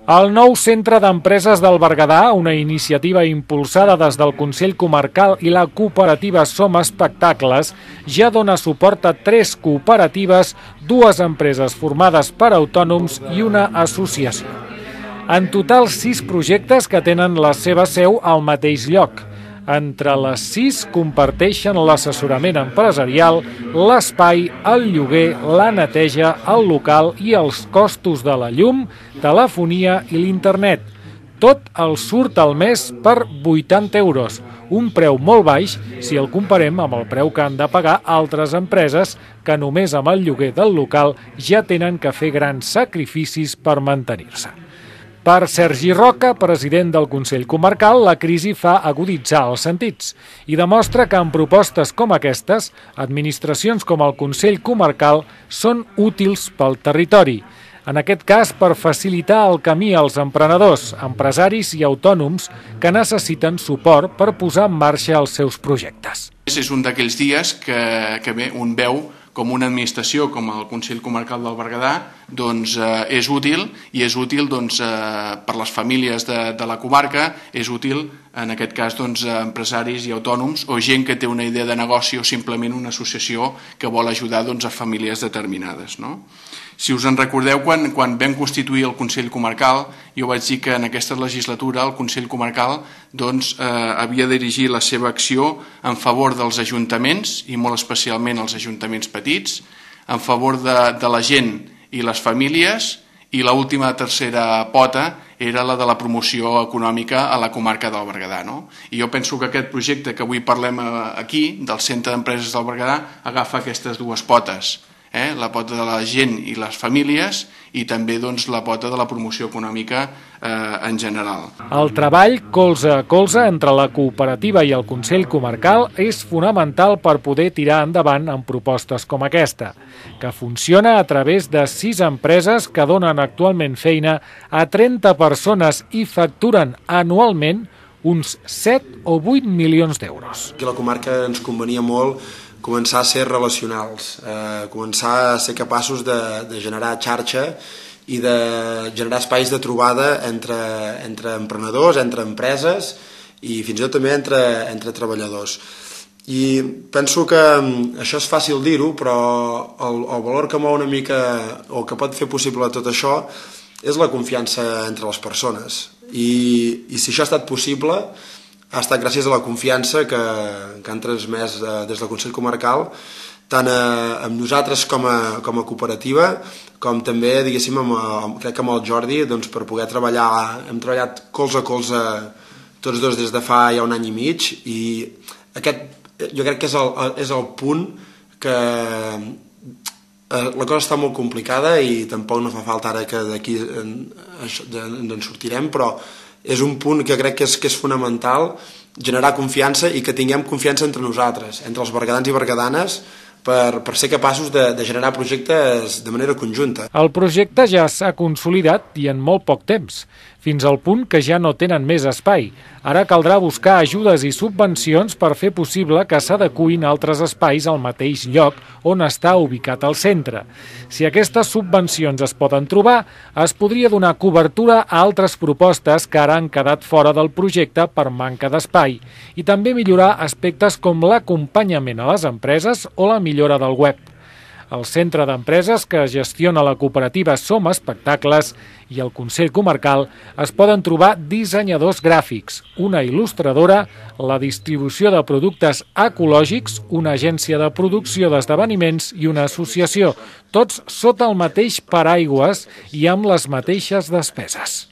El nou Centre d'Empreses del Berguedà, una iniciativa impulsada des del Consell Comarcal i la cooperativa Som Espectacles, ja dona suport a 3 cooperatives, 2 empreses formades per autònoms i una associació. En total, 6 projectes que tenen la seva seu al mateix lloc. Entre les 6 comparteixen l'assessorament empresarial, l'espai, el lloguer, la neteja, el local i els costos de la llum, telefonia i l'internet. Tot els surt al mes per 80 euros, un preu molt baix si el comparem amb el preu que han de pagar altres empreses que només amb el lloguer del local ja tenen que fer grans sacrificis per mantenir-se. Per Sergi Roca, president del Consell Comarcal, la crisi fa aguditzar els sentits i demostra que en propostes com aquestes, administracions com el Consell Comarcal són útils pel territori. En aquest cas, per facilitar el camí als emprenedors, empresaris i autònoms que necessiten suport per posar en marxa els seus projectes. És un d'aquells dies que un veu com una administració com el Consell Comarcal del Berguedà és útil i és útil per les famílies de la comarca, és útil en aquest cas empresaris i autònoms o gent que té una idea de negoci o simplement una associació que vol ajudar a famílies determinades. Si us en recordeu, quan vam constituir el Consell Comarcal, jo vaig dir que en aquesta legislatura el Consell Comarcal havia de dirigir la seva acció en favor dels ajuntaments i molt especialment els ajuntaments petits, en favor de la gent i les famílies, i l'última tercera pota era la de la promoció econòmica a la comarca del Berguedà. I jo penso que aquest projecte que avui parlem aquí, del Centre d'Empreses del Berguedà, agafa aquestes 2 potes, la pota de la gent i les famílies i també la pota de la promoció econòmica en general. El treball colze a colze entre la cooperativa i el Consell Comarcal és fonamental per poder tirar endavant amb propostes com aquesta, que funciona a través de 6 empreses que donen actualment feina a 30 persones i facturen anualment uns 7 o 8 milions d'euros. Aquí a la comarca ens convenia molt començar a ser relacionals, començar a ser capaços de generar xarxa i de generar espais de trobada entre emprenedors, entre empreses i fins i tot també entre treballadors. I penso que això és fàcil dir-ho, però el valor que mou una mica o que pot fer possible tot això és la confiança entre les persones. I si això ha estat possible ha estat gràcies a la confiança que han transmès des del Consell Comarcal tant amb nosaltres com a cooperativa com també, diguéssim, crec que amb el Jordi per poder treballar. Hem treballat colze a colze tots dos des de fa ja 1 any i mig i aquest jo crec que és el punt que la cosa està molt complicada i tampoc no fa falta ara que d'aquí ens sortirem, però és un punt que crec que és fonamental generar confiança i que tinguem confiança entre nosaltres, entre els berguedans i berguedanes, per ser capaços de generar projectes de manera conjunta. El projecte ja s'ha consolidat i en molt poc temps, fins al punt que ja no tenen més espai. Ara caldrà buscar ajudes i subvencions per fer possible que s'adeqüin altres espais al mateix lloc on està ubicat el centre. Si aquestes subvencions es poden trobar, es podria donar cobertura a altres propostes que ara han quedat fora del projecte per manca d'espai i també millorar aspectes com l'acompanyament a les empreses o la millora del web. El Centre d'Empreses que gestiona la cooperativa Som Espectacles i el Consell Comarcal es poden trobar dissenyadors gràfics, una il·lustradora, la distribució de productes ecològics, una agència de producció d'esdeveniments i una associació, tots sota el mateix paraigües i amb les mateixes despeses.